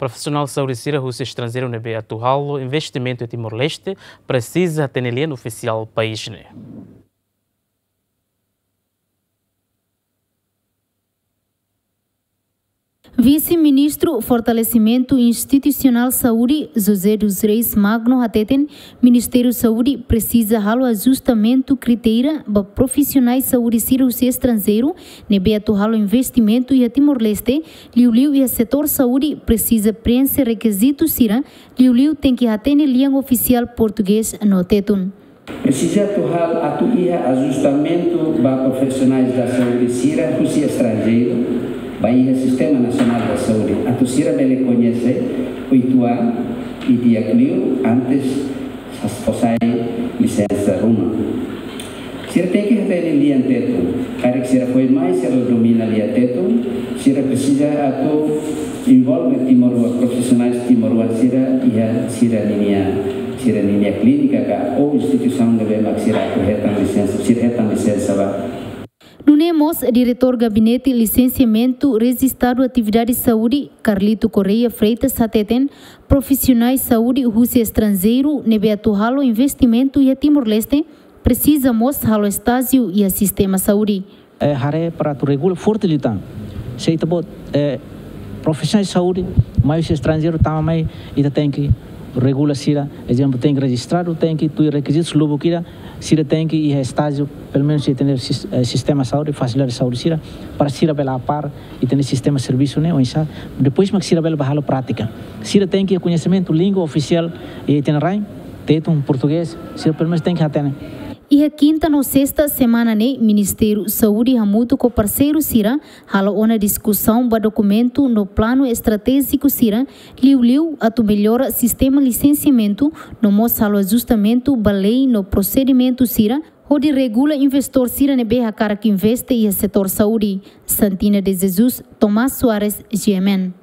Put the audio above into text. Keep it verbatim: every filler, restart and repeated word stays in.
Profisionál saúde sira husi estranjeiru ne'ebé atu halo investimentu iha Timor-Leste presiza hatene lian ofisiál país ne'e. Vise-Ministru Fortalesimentu Institusionál Saúde, José dos Reis Magno, hateten Ministériu Saúde presiza halo ajustamentu kritéria ba profisionais saúde sira husi estranjeiru ne'ebé atu halo investimentu iha Timor-Leste, liuliu iha setór saúde presiza preenxe rekizitu sira, liuliu tenke hatene lian ofisiál portugés no tetun. Presiza atu hal-, atu iha ajustamentu ba profisionais da saúde sira husi estranjeiru, ba iha Sistema Nasionál da Saúde. Atu sira bele koñese oituan i di'ak liu antes sas-, fó sai lisensa ruma. Sira tenke hatene lian tetun. Karik sira foin mai, sira domina lian tetun, sira presiza atu envolve timoroan, profisionais timoroan sira iha sira ninia, sira ninia klínika ka ou instituisaun ne'ebé mak sira atu hetan lisensa, sira hetan lisensa ba. Nune'e mós, Diretór Gabinete Lisensiamentu Rejistadu Atividade Saúde, Carlito Correia Freitas, hateten profisionais saúde husi estranjeiru ne'ebé atu halo investimentu iha Timor-Leste presiza mós halo estájiu iha sistema saúde. Eh, haree para atu regula forte liután. Se ita-boot, eh, profisionais saúde mai husi estranjeiru tama mai, ita tenke regula sira, ezemplu, tenke rejistradu, tenke tuir rekizitus lubuk ida, sira tenke iha estájiu, pelumenus ita-nia sis-, eh, sistema saúde, fasilidade saúde sira, para sira bele apar ita-nia sistema servisu ne'e oinsá, depois mak sira bele bá halo prátika. Sira tenke koñesimentu língua ofisiál iha ita-nia rain, tetun, portugés, sira pelumenus tenke hatene. Iha kinta no sesta semana ne'e, Ministériu Saúde hamutuk ho parseiru sira halo ona diskusaun ba dokumentu no planu estratéjiku sira, liuliu atu mellora sistema lisensiamentu, no mós halo ajustamentu ba lei no prosedimentu sira, hodi regula investór sira ne'ebé hakarak investe iha setór saúde. Santina de Jesus, Tomás Soares, G M N.